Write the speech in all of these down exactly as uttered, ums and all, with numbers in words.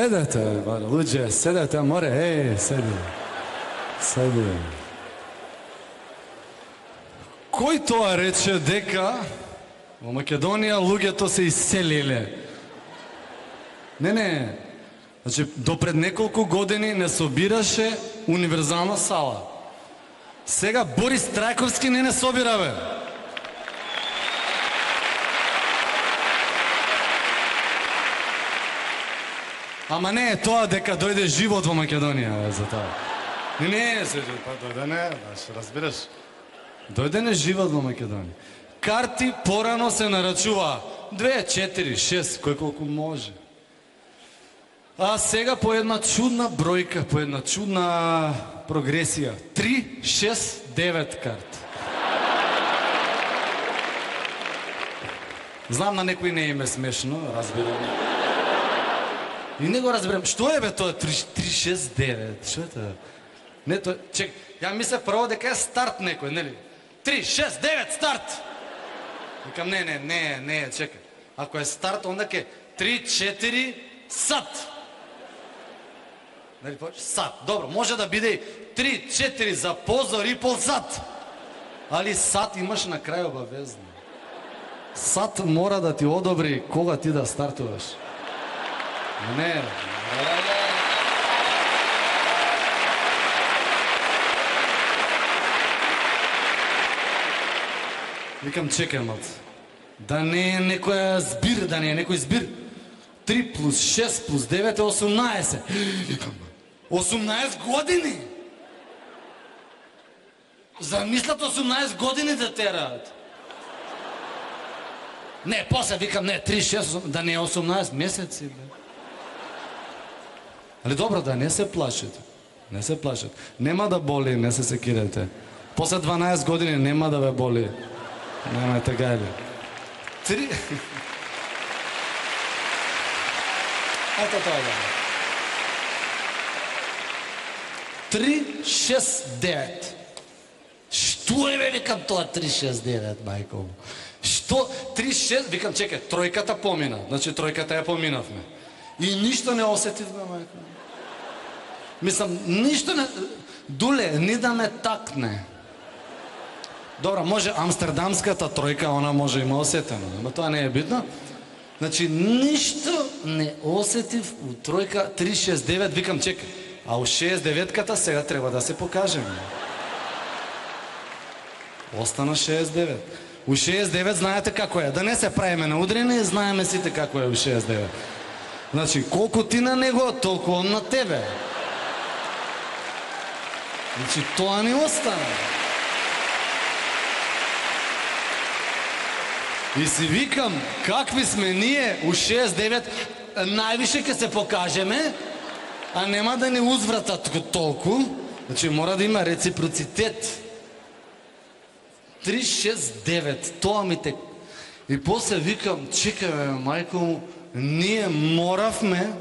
Седете, луѓе, седете, море, еј, седи. Седи. Кој тоа рече дека во Македонија луѓето се иселиле? Не, не. Значи, до пред неколку години не собираше универзална сала. Сега Борис Трајковски не не собира, бе. Ама не е тоа дека дојде живот во Македонија, за тоа. Не, не, се, па дојде не, да, разбираш. Дојде не живот во Македонија. Карти порано се нарачува две, четири, шест, кој колку може. А сега по една чудна бројка, по една чудна прогресија. три, шест, девет карти. Знам на некој не им е смешно, разбирам. И не го разберам. Што е бе тоа три, шест, девет? Што е тоа? Не тоа, чек, ја мислев прво дека е старт некој, нели? три, шест, девет, старт! Викам, не, не, не, не, чекай. Ако е старт, онда ке три, четири, сат. Нели почеш? Сат. Добро, може да биде и три, четири за позор и пол сат. Али сат имаш на крај обавезно. Сат мора да ти одобри кога ти да стартуваш. Не, не. Викам, чекай, малце. Да не е некоја збир, да не е некој збир. три плюс шест плюс девет е осумнаесет. осумнаесет години! Замислат осумнаесет години да тераат. Не, после викам, не, три, шест, да не е осумнаесет месеци, бе. Али добро, да не се плашите. Не се плашите. Нема да боли, не се секирате. После дванаесет години нема да ве боли. Немајте гајли. Три... Ето тоа да. Три, шест, девет. Што е, бе, викам тоа три, шест, девет, мајко? Што? три, шест, викам, чекай, тројката помина. Значи, тројката ја поминавме. И ништо не осетивме, мајко. Мислам, ништо не... Дуле, ни да ме такне. Добра, може амстердамската тројка, она може има осетено, но тоа не е битно. Значи, ништо не осетив у тројка три шест девет, викам, чекай, а у шест деветката сега треба да се покажеме. Остана шест девет. У шест девет знаете како е, да не се правиме на удрени, знаеме сите како е у шест девет. Значи, колку ти на него, толку он на тебе. Значи, тоа ни остана. И си викам, какви сме ние у шест девет, највише ќе се покажеме, а нема да ни узвратат толку. Значи, мора да има реципроцитет. три шест девет, тоа ми те... И после викам, чекай, бе, мајко му, ние моравме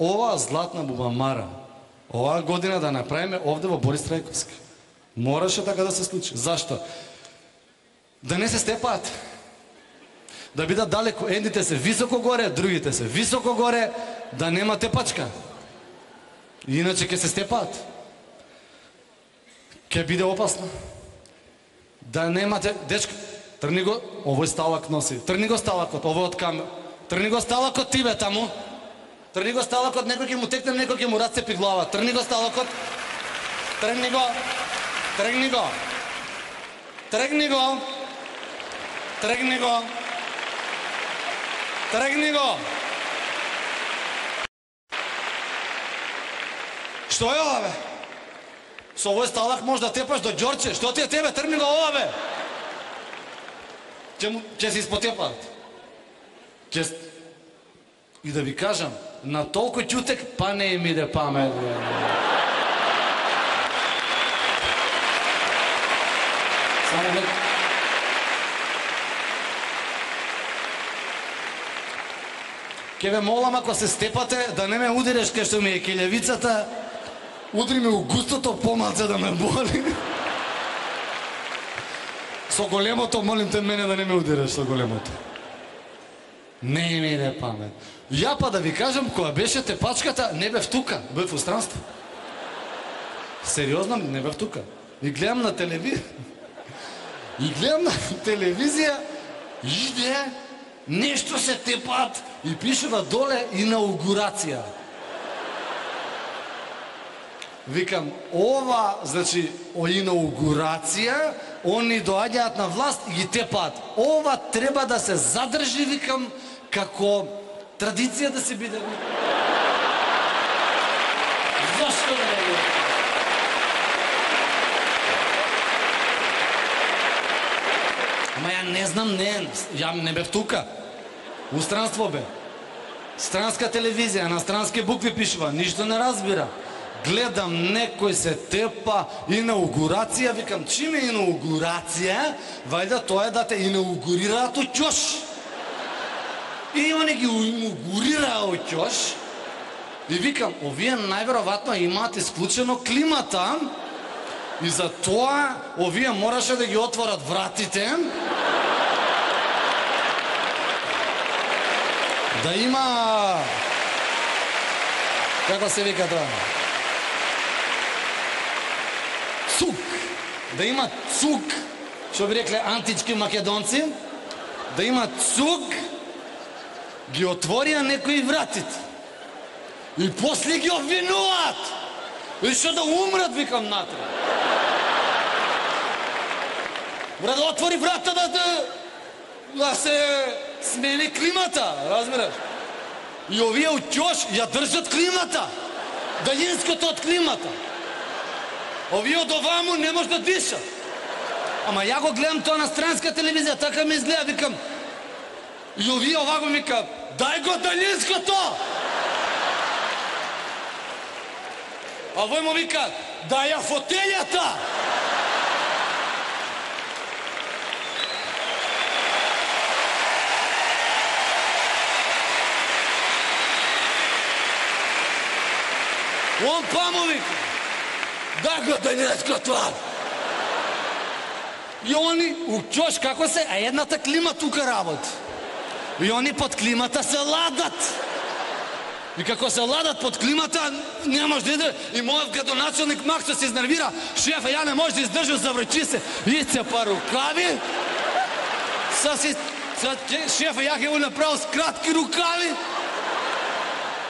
оваа златна бубамара, оваа година да направиме овде во Борис Трајковски. Мораше така да се случи. Зашто? Да не се степаат. Да бидат далеко, едните се високо горе, другите се високо горе, да нема тепачка. Иначе ќе се степаат. Ќе биде опасно. Да немате, дечко, трни го, овој сталак носи. Трни го сталакот, овој од камер. Трни го сталакот ти, бе, таму. Трни го сталакот, некој ќе му текне, некој ќе му расцепи глава. Трни го сталакот. Тргни го. Тргни го. Тргни го. Тргни го. Тргни го. Што е ова, бе? Со овој сталак може да тепаш до Ѓорче. Што ти е тебе? Тргни го ова, бе. Ќе, ќе се испотепаат. Ќе... И да ви кажам, на толку ќутек, па не им иде памет. Само не... Ке ве молам, ако се степате, да не ме удиреш кај што ми е келевицата, удри ме у густото помалце да ме боли. Со големото, молим те мене да не ме удиреш со големото. Не ми иде памет. Ја па да ви кажам, која беше тепачката, не бев тука, бев у странство. Сериозно, не бев тука. И гледам на телевизија, и гледам на телевизија, иде, нешто се тепат и пишува доле инаугурација. Викам, ова, значи, о инаугурација, они доаѓаат на власт и ги тепаат. Ова треба да се задржи, викам, како традиција да се биде. Зашто да не биде? Ама ја не знам, не, ја не бев тука. У странство бе. Странска телевизија, на странски букви пишува, ништо не разбира. Гледам некој се тепа, инаугурација, викам, чим е инаугурација? Вајда тоа е да те инаугурираат у ќош. И они ги инаугурираа у ќош. И викам, овие најверојатно имаат исклучено климата и за тоа овие мораше да ги отворат вратите. Да има... Како се вика тоа? Цук. Да има цук, што би рекле антички македонци, да има цук, ги отворија некои вратите. И после ги обвинуваат. И што да умрат, викам, натре. Мора да отвори врата да, да, да се смени климата, разбираш? И овие у ќош ја држат климата. Далинското од климата. Овие од оваму не може да диша. Ама ја го гледам тоа на странска телевизија, така ми изгледа, викам. И овие овако ми кажа, дај го далинското! А овој му вика, дај ја фотелјата! Он па му вика, дај го далинското! И они, у ќош како се, а едната клима тука работи. И они под климата се ладат. И како се ладат под климата, не може да иде. И мојот градоначелник Максо се изнервира. Шефа, ја не може да издржам, заврчи се. Ице па рукави. Са си... Шефа, ја ќе го направил с кратки рукави.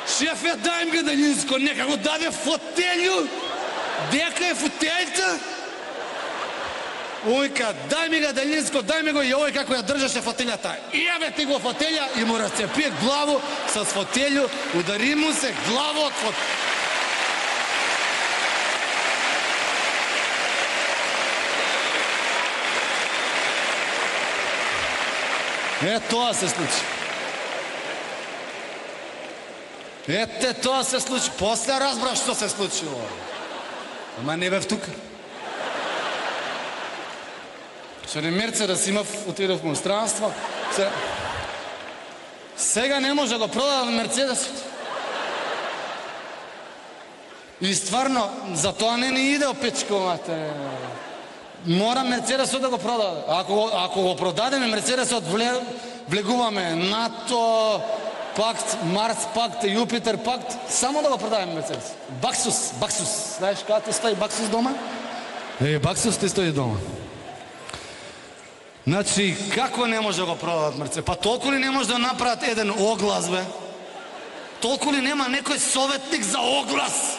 Шефе, дај ми далинско, нека го даде фотелју. Дека е фотелјта? Ојка, дај ми га далинско, дај ми го, и овој како ја држаше фотелјата. И јаве ти го фотелја и му расцепи главу с фотелју, удари му се глава од фотелја. Е, тоа се случи. Ете, тоа се случи. После разбрав што се случило. Ама не бев тука. Што не Мерцедес имав, отидов му странство. Сега не може да го продадам Мерцедесот. И стварно, за тоа не ни иде опечковате. Мора Мерцедесот да го продаде. Ако, ако го продадеме Мерцедесот, вле, влегуваме НАТО, пакт, Марс пакт, Јупитер пакт, само да го продадеме Мерцедес. Баксус, Баксус. Знаеш кога ти стои Баксус дома? Е, Баксус ти стои дома. Значи, како не може да го продадат Мерцедес? Па толку ли не може да направат еден оглас, бе? Толку ли нема некој советник за оглас?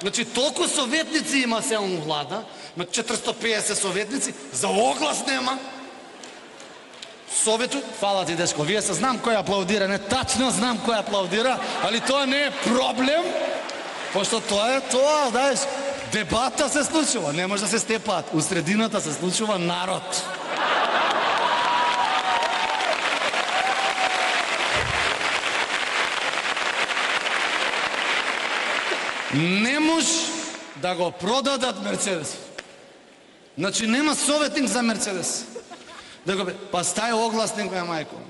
Значи, толку советници има се он влада, има четиристотини и педесет советници, за оглас нема. Совету, фала ти, дечко, вие се знам кој аплаудира, не тачно знам кој аплаудира, али тоа не е проблем, пошто тоа е тоа, знаеш, дебата се случува, не може да се степаат. У средината се случува народ. Не може да го продадат Мерцедес. Значи нема советник за Мерцедес. Да го бе, па стај огласник, бе, мајко.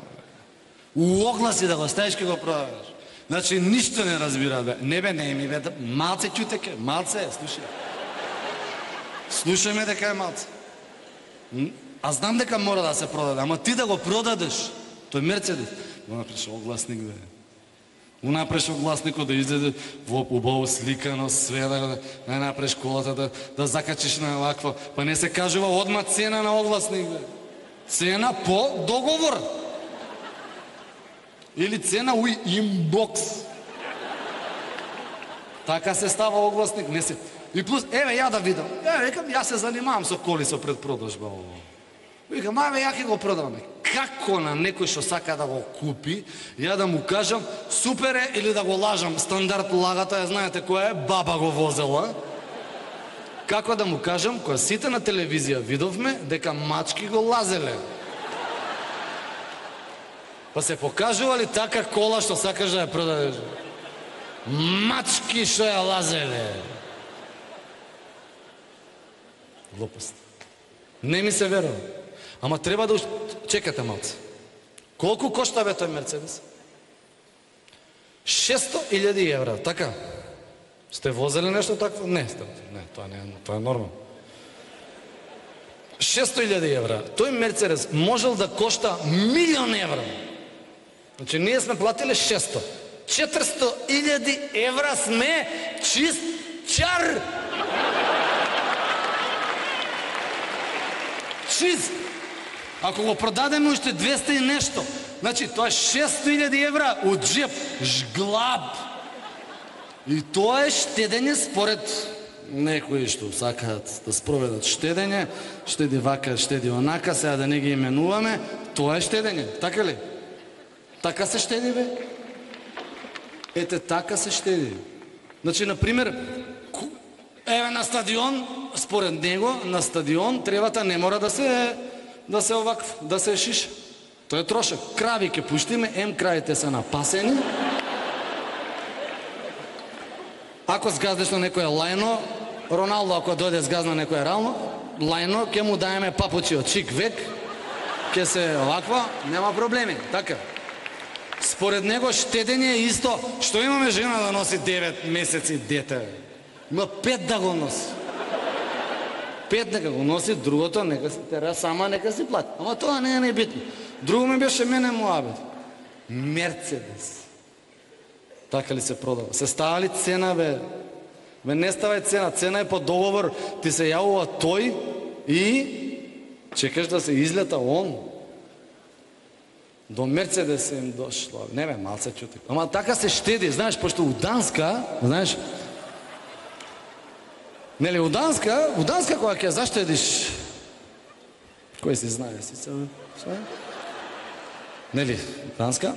У огласи да го стаиш ке го продаваш. Значи, ништо не разбира, бе. Не бе, не ми, бе, малце чутеке, малце, слушај. Слушај ме дека е малце. А знам дека мора да се продаде, ама ти да го продадеш, тој Мерцедес, го направиш огласник, бе. Го направиш огласникот да излезе во убаво сликано, све да да направиш колата, да, да закачиш на вакво, па не се кажува одма цена на огласник, бе. Цена по договор. Или цена у инбокс. Така се става огласник, не се. И плюс, еве ја да видам. Еве, викам, јас се занимавам со коли со предпродажба ово. Викам, ајде ја ќе го продаваме. Како на некој што сака да го купи, ја да му кажам, супер е, или да го лажам, стандард лагата, ја знаете која е, баба го возела. Како да му кажам, која сите на телевизија видовме, дека мачки го лазеле. Па се покажували така кола што сакаш да ја продадеш. Мачки што ја лазеле. Глупост. Не ми се верува. Ама треба да... Чекате малце. Колку кошта бе тој Мерцедес? шесто илјади евра, така? Сте возели нешто такво? Не, сте... не, тоа не е, тоа е нормално. шесто илјади евра. Тој Мерцедес можел да кошта милион евра. Значи, ние сме платили шесто. четиристо илјади евра сме чист чар. Чист. Ако го продадеме уште двесте и нешто, значи тоа е шесто илјади евра од джеп, жглаб. И тоа е штедење според некои што сакаат да спроведат штедење, штеди вака, штеди онака, сега да не ги именуваме, тоа е штедење, така ли? Така се штеди, бе? Ете, така се штеди. Значи, например, еве на стадион, според него, на стадион тревата не мора да се да се овакв, да се шиша. Тоа е трошак. Крави ке пуштиме, ем краите се напасени. Ако сгаздеш на некоја лајно, Роналдо ако дојде сгазна некоја рално, лајно, ке му даеме папучи од чик век, ке се оваква, нема проблеми, така. Според него штедење е исто, што имаме жена да носи девет месеци дете. Има пет да го носи. Пет нека го носи, другото нека се тера сама, нека си плати. Ама тоа не е небитно. Друго ми беше мене муабет. Мерцедес. Така ли се продава? Се става ли цена, бе? Бе, не става цена. Цена е по договор. Ти се јавува тој и чекаш да се излета он. До Мерцедес им дошло. Не бе, малце чути. Ама така се штеди. Знаеш, пошто у Данска, знаеш, нели, у Данска, у Данска кога ќе заштедиш, кој си знае, си се... Нели, Данска?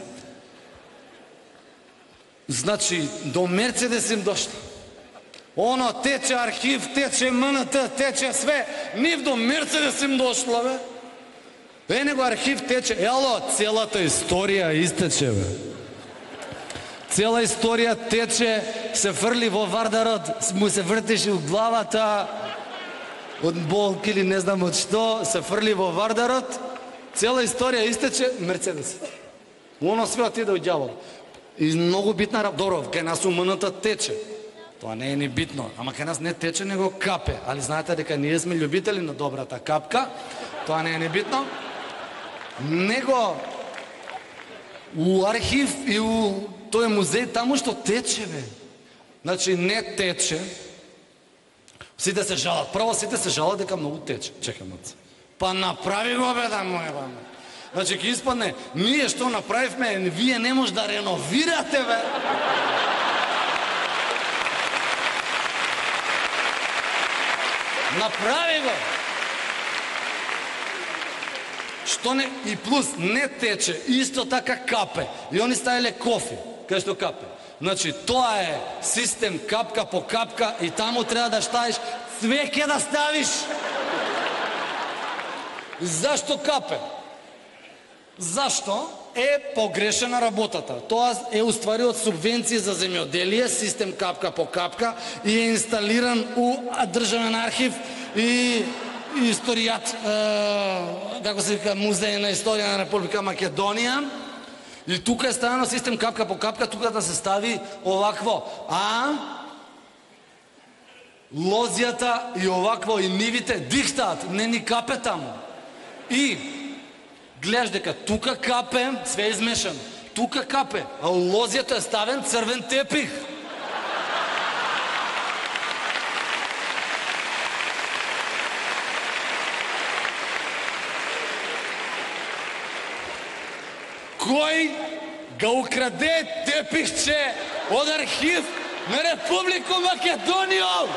Значи, до Мерцедес им дошло. Оно тече архив, тече МНТ, тече све. Нив до Мерцедес им дошло, бе. Е, него архив тече. Ело, целата историја истече, бе. Цела историја тече, се фрли во Вардарот, му се вртеше у главата, од болки или не знам од што, се фрли во Вардарот, цела историја истече, Мерцедес. Оно све отиде од ѓавол. И многу битна работа. Добро, кај нас у МНТ тече. Тоа не е ни битно, ама кај нас не тече, него капе. Али знаете дека ние сме љубители на добрата капка, тоа не е ни битно. Него у архив и у тој музеј таму што тече, бе. Значи не тече. Сите се жалат. Прво сите се жалат дека многу тече. Чекам од се. Па направи го, бе, да му е, бе. Значи ке испадне, ние што направивме, вие не може да реновирате, бе. Направи го. Што не, и плюс не тече, исто така капе. И они ставиле кофи, кај што капе. Значи, тоа е систем капка по капка и таму треба да ставиш, све ке да ставиш. Зашто капе? Зашто е погрешена работата? Тоа е уствари од субвенции за земјоделие, систем капка по капка и е инсталиран у државен архив и историјат, е, како се вика, музеј на историја на Република Македонија. И тука е ставено систем капка по капка, тука да се стави овакво. А лозијата и овакво и нивите дихтаат, не ни капе таму. И гледаш дека тука капе, све измешано. тука капе, а у лозјето е ставен црвен тепих. Кој га украде тепихче од архив на Република Македонија?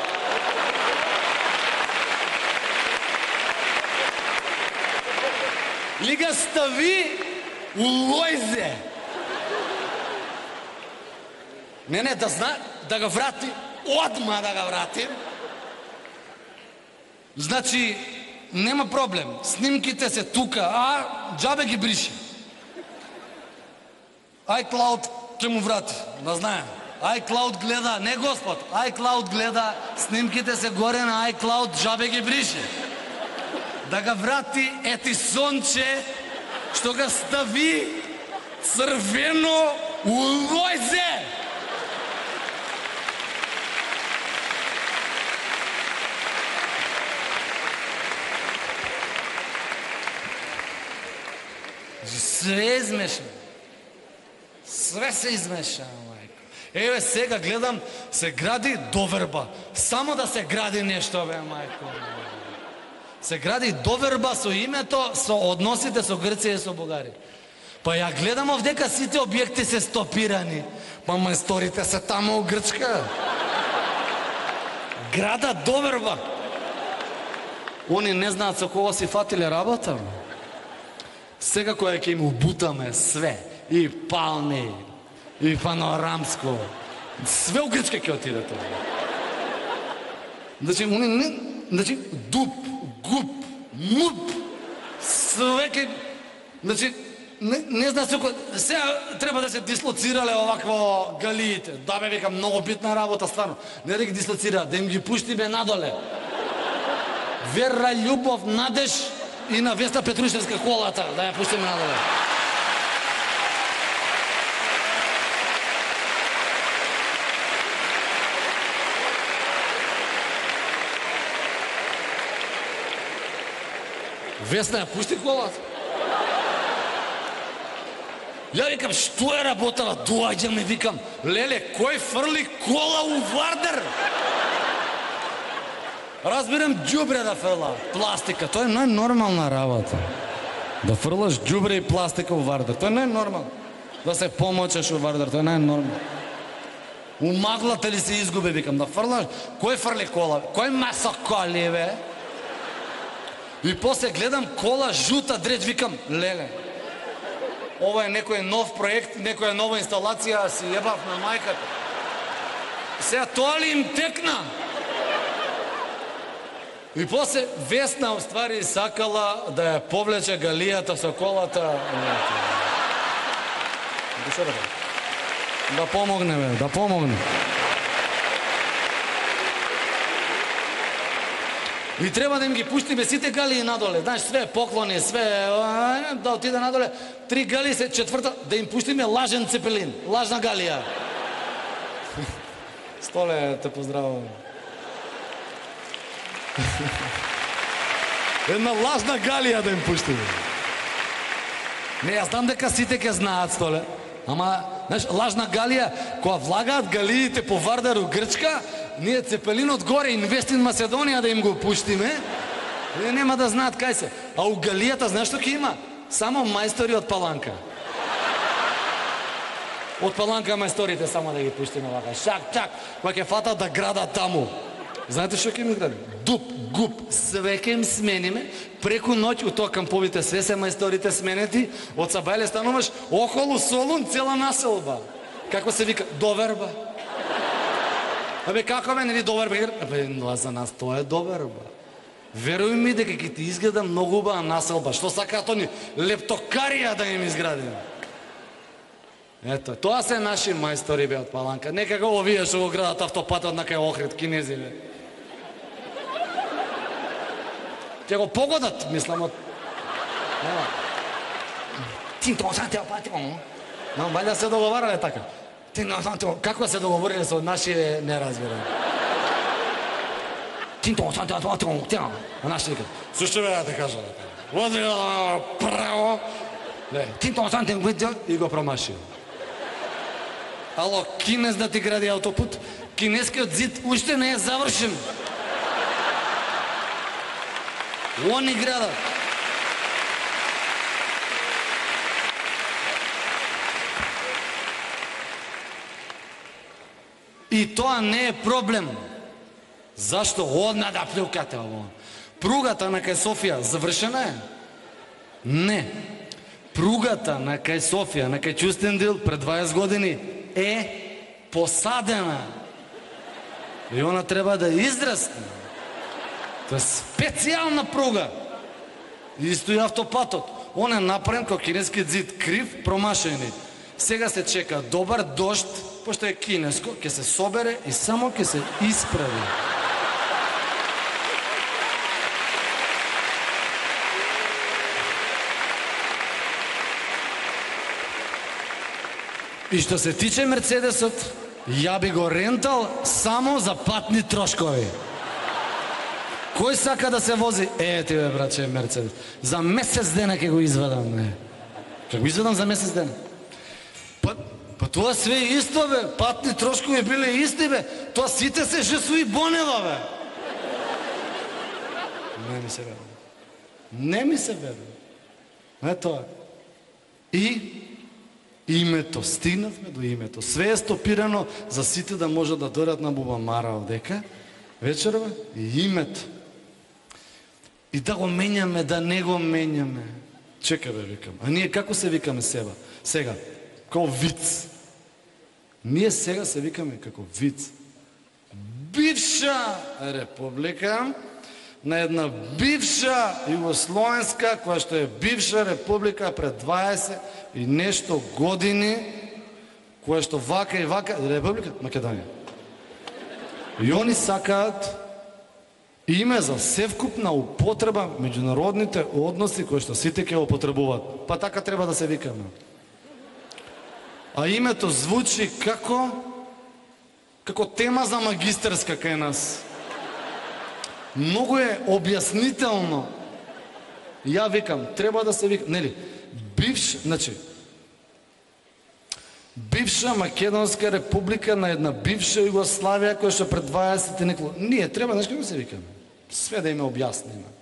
Ли га стави у лојзе? Не, не, да зна, да га врати, одма да га врати. Значи, нема проблем, снимките се тука, а џабе ги бриши. iCloud ќе му врати, да знаем. iCloud гледа, не Господ, iCloud гледа, снимките се горе на iCloud, џабе ги бриши. Да га врати ети сонче, што га стави црвено у лојзе. Све измешано. Све се измеша, мајко. Еве сега гледам, се гради доверба. Само да се гради нешто, бе, мајко. Се гради доверба со името, со односите со Грција и со Бугарија. Па ја гледам овдека сите објекти се стопирани. Па мајсторите се тамо у Грчка. Града доверба. Они не знаат со кого си фатиле работа. Сега која ќе им убутаме све. И палми, и панорамско. Све у Грчка ќе отиде тоа. Значи, они не... Значи, дуп, гуп, муп, све ке... Значи, не, не знам секој... Сега треба да се дислоцирале овакво галиите. Да бе, века, многу битна работа, стварно. Не да ги дислоцираат, да им ги пуштиме надоле. Вера, љубов, надеж и на Веста Петрушевска колата, да ја пуштиме надоле. Весна ја пушти колата. Ја викам, што е работала? Доаѓам и викам, леле, кој фрли кола у Вардар? Разбирам, ѓубре да фрла, пластика. Тоа е најнормална работа. Да фрлаш ѓубре и пластика у Вардар. Тоа е најнормално. Да се помочеш у Вардар, тоа е најнормално. У маглата ли се изгубе, викам, да фрлаш? Кој фрли кола? Кој масо коли, бе? И после гледам кола жута дреч, викам, леле, ова е некој нов проект, некоја нова инсталација, си ебав на мајката. Сега тоа ли им текна? И после Весна уствари сакала да ја повлече галијата со колата. Да помогне, бе, да помогне. И треба да им ги пуштиме сите галии надоле. Знаеш, све поклони, све, да отиде надоле. Три галии се, четврта, да им пуштиме лажен цепелин, лажна галија. Столе, те поздравувам. Една лажна галија да им пуштиме. Не, јас знам дека сите ке знаат, Столе. Ама, знаеш, лажна галија, која влагаат галиите по Вардару Грчка, ние цепелинот горе, Инвестин Македонија да им го пуштиме, и нема да знаат кај се. А у галијата, знаеш што ќе има? Само мајстори од Паланка. Од Паланка мајсторите само да ги пуштиме вака. Шак, чак, која ќе фатат да градат таму. Знаете што ќе ми гради? Дуп, гуп, све ќе им смениме, преку ноќ у тоа камповите све се мајсторите сменети, од Сабајле стануваш околу Солун цела населба. Како се вика? Доверба. Абе, како бе, нели доверба? Абе, за нас тоа е доверба. Веруј ми дека ќе ти изгледа многу убава населба. Што сакаат они? Лептокарија да им изградиме. Ето, тоа се наши мајстори, бе, од Паланка. Некако овие што го градат автопатот на кај Охрид, кинези, бе. Ќе го погодат, мислам, од... Тинто, сантео, патио. Но, бајда се договарале така. Тинто, сантео, како се договориле со наши, не разбирам. Тинто, сантео, патио, тя. А наши викат, слушай, бе, да те кажа, води право, Ле, ти тоа сантен видео и го промашил. Ало, кинез да ти гради автопут, кинескиот зид уште не е завршен. Они градат. И тоа не е проблем. Зашто одна да плюкате ово? Пругата на кај Софија завршена е? Не. Пругата на кај Софија, на кај Кюстендил пред дваесет години е посадена. И она треба да израсне. Тоа е специјална пруга. Исто и автопатот. Он е направен како кинескиот зид, крив, промашени. Сега се чека добар дожд, пошто е кинеско, ќе се собере и само ќе се исправи. И што се тиче Мерцедесот, ја би го рентал само за патни трошкови. Кој сака да се вози? Е, ти бе, браче, Мерцедес. За месец дена ќе го извадам, не. Ќе го извадам за месец дена. Па, па тоа све исто, бе. Патни трошкови биле исти, бе. Тоа сите се Жесуи Бонева, бе. Не ми се верува. Не ми се верува. Не тоа. И името, стигнавме до името. Све е стопирано за сите да можат да дојдат на Бубамара овдека. Вечерва и името. И да го менјаме, да не го менјаме. Чекай, бе, викам. А ние како се викаме сега? Сега, како виц. Ние сега се викаме како виц. Бивша република на една бивша југословенска, која што е бивша република пред дваесет и нешто години, која што вака и вака, Република Македонија. И они сакаат име за севкупна употреба меѓународните односи кои што сите ќе употребуваат. Па така треба да се викаме. А името звучи како како тема за магистерска кај нас. Многу е објаснително. Ја викам, треба да се вика, нели? Бивш, значи бивша Македонска република на една бивша Југославија која што пред дваесет и неколку. Ние треба, знаеш како се викаме? Све да им објасниме.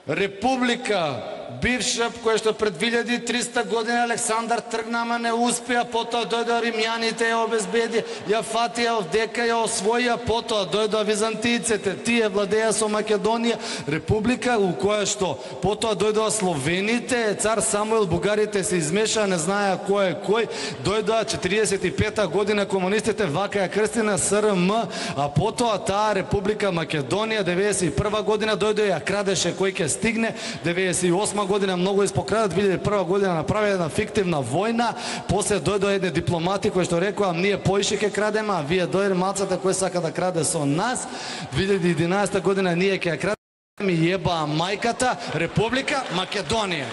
Република бивша која што пред две илјади и триста години Александар тргна, ама не успеа, потоа дојдоа римјаните, ја обезбеди, ја фатија овдека, ја освоија, потоа дојдоа византијците, тие владеа со Македонија, република у која што потоа дојдоа словените, цар Самуил, бугарите се измешаа, не знаеа кој е кој, дојдоа четиридесет и пета година комунистите, вака ја крстина С Р М, а потоа таа република Македонија деветдесет и прва година дојдоа ја крадеше кој ќе стигне, деветдесет и осма година многу испокрадат, две илјади и прва година направи една фиктивна војна, после дојдоа едни дипломати кои што рекоа ние поише ќе крадеме, а вие дојде мацата кој сака да краде со нас. две илјади и единаесета година ние ќе ја крадеме и ебаа мајката Република Македонија.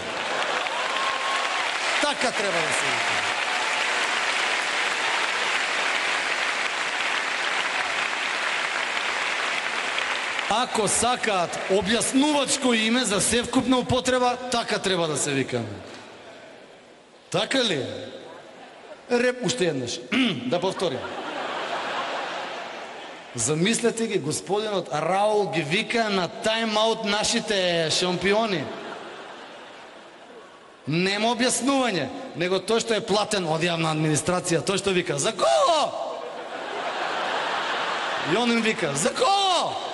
Така треба да се вика. Ако сакаат објаснувачко име за севкупна употреба, така треба да се викаме. Така ли? Реп, уште еднаш. Да повторим. Замислете ги, господинот Раул ги вика на тайм-аут нашите шампиони. Нема објаснување, него тој што е платен од јавна администрација, тој што вика за коло! И он им вика за коло!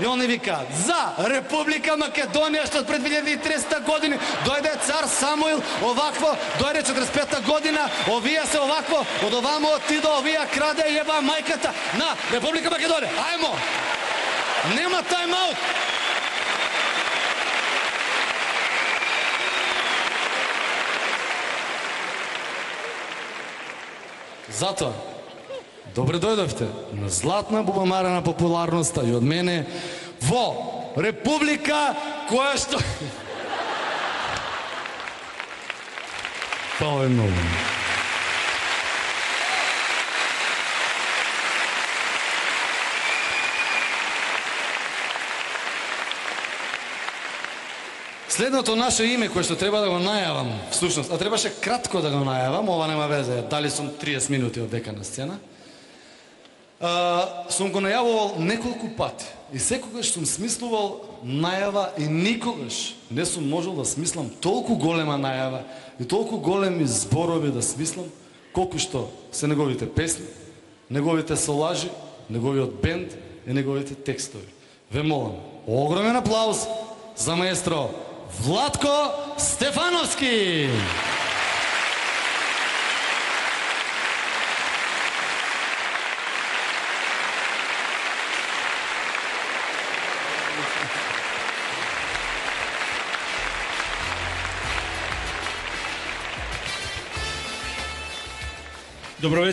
И они викаат за Република Македонија, што пред две илјади и тридесета години дојде цар Самуил, овакво, дојде четиридесет и пета година, овие се овакво, од овамо отидо, овие краде и еба мајката на Република Македонија. Ајмо! Нема тайм-аут! Затоа, добре дојдовте на златна бубамара на популарноста и од мене во Република која што... Фала е многу. Следното наше име кое што треба да го најавам, всушност, а требаше кратко да го најавам, ова нема везе, дали сум триесет минути од дека на сцена. Uh, сум го најавувал неколку пати и секогаш сум смислувал најава и никогаш не сум можел да смислам толку голема најава и толку големи зборови да смислам колку што се неговите песни, неговите солажи, неговиот бенд и неговите текстови. Ве молам, огромен аплауз за маестро Владко Стефановски! Добро вечер.